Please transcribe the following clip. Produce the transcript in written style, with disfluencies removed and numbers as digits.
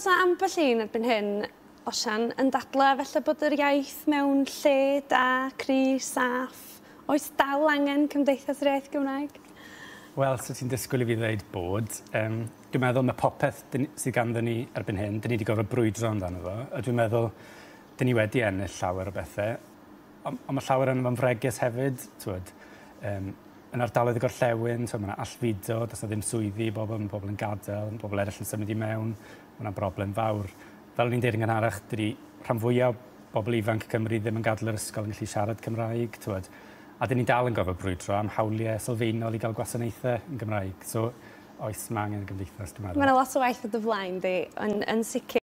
oes 'na ambell un erbyn hyn, Osian, yn dadlau felly bod yr iaith mewn lle da, cry, saff. Oes dal angen Cymdeithas yr Iaith Gymraeg? Wel, so ti'n disgwyl i fi ddweud bod. Dwi'n meddwl mae popeth sydd ganddo ni erbyn hyn, dyn ni wedi gorfod brwydro amdano fo, a dwi'n meddwl dyn ni wedi ennill llawer o bethau, ond mae llawer yn fo'n fregus hefyd, t'wod. Yn ardaloedd y gorllewin, t'wod, mae yna allfudo, does 'na ddim swyddi i bobl, mae pobl yn gadael, mae pobl eraill yn symud i mewn, mae yna broblem fawr. Fel o'n i'n deud yn gynharach, dydy rhan fwyaf o bobl ifanc Cymru ddim yn gadael yr ysgol yn gallu siarad Cymraeg, t'wod. A dyn ni dal yn gorfod brwydro am hawliau sylfaenol i gael gwasanaethau yn Gymraeg. So, oes, mae angen y gymdeithas, dwi'n meddwl. Mae yna lot o waith o dy flaen di, yn sicr.